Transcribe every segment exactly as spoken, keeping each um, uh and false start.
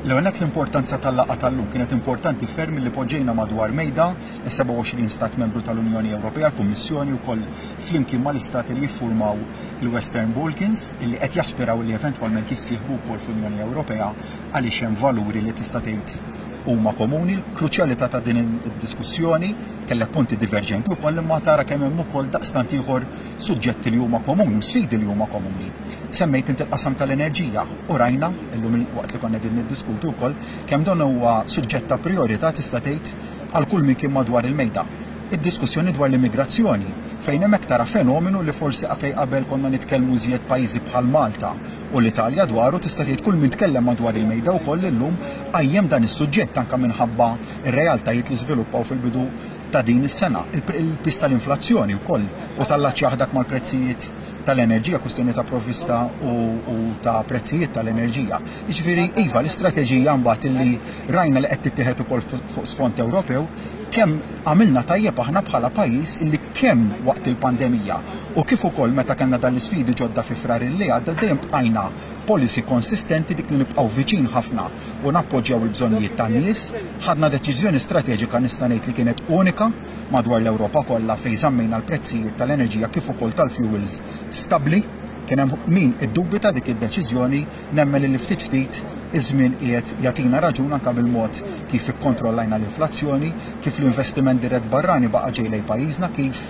L-ewwel nett, l-importanza tal-laqgħa tal-lum kienet importanti ferm li poġġejna madwar mejda is-sebgħa u għoxrin stat membru tal-Unjoni Ewropea, l-Kummissjoni wkoll flimkien mal-istati li jiffurmaw il-Western Balkans, illi qed jaspiraw li eventwalment jissieħbu wkoll fl-Unjoni Ewropea, għaliex hemm valuri li tista' tgħid huma komuni. Kruċjalità ta' din id-diskussjoni, kellek punti diverġenti wkoll, imma tara kemm hemm ukoll daqstant ieħor suġġetti li huma komuni u sfidi li huma komuni. Semmejt inti l-qasam tal-enerġija u rajna illum, waqt li konna din niddiskutu wkoll, kemm dan huwa suġġett ta' priorità, tista' tgħid, għal kull min kien madwar il-mejda. Id-diskussjoni dwar l-immigrazzjoni, fejn hemmhekk tara fenomenu li forsi fejn qabel konna nitkellmu żjed pajjiżi bħal Malta u l-Italja dwaru, tista' tgħid kull min tkellem madwar il-mejda wkoll illum qajjem dan is-suġġett, anke minħabba ir-realtajiet li żviluppaw fil-bidu ta' din is-sena. Il-pis tal-inflazzjoni wkoll u tal-laċ dak mal-prezzijiet tal-enerġija, kwistjoni ta' provvista u, u ta' prezzijiet tal-enerġija. Jiġifieri iva, l-istrateġija mbagħad illi rajna li qed tittieħed ukoll fuq sfond Ewropew, kemm għamilna tajjeb aħna bħala pajjiż illi kemm waqt il-pandemija u kif ukoll meta kellna dan l-isfidi ġodda fi Frar li għadda, dejjem bqajna policy konsistenti, dik li nibqgħu viċin ħafna u nappoġġjaw il-bżonnijiet tan-nies. Ħadna deċiżjoni strateġika, nista' ngħid li kienet unika madwar l-Ewropa kollha, fejn żammejna l-prezzijiet tal-enerġija kif ukoll tal-fuels stabbli. Kien hemm min iddubita dik id-deċiżjoni. Nemmen li ftit ftit iż-żmien qiegħed jagħtina raġun, anke bil-mod kif ikkontrollajna l-inflazzjoni, kif l-investiment dirett barrani baqa' ġej lejn pajjiżna, kif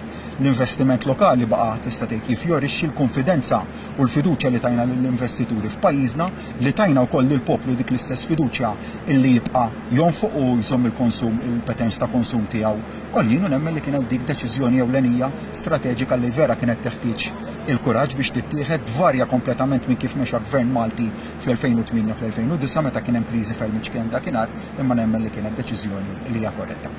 l-investiment lokali baqa', tista' tgħid, jifjorixxi, l-konfidenza u l-fiduċja li tajna lill-investituri f'pajjiżna, li tajna wkoll lill-poplu dik l-istess fiduċja illi jibqa' jonfoq u jżomm il-konsum, il-patterns ta' konsum tiegħu għoljin, u nemmen li kienet dik deċiżjoni ewlenija strateġika li vera kienet teħtieġ il-kuraġġ biex tittieħed, tvarja kompletament minn kif mexa gvern Malti fl-elfejn u tmienja, fl-elfejn u disgħa, meta kien hemm kriżi ferm iċken dakinhar, imma nemmen li kienet deċiżjoni li hija korretta.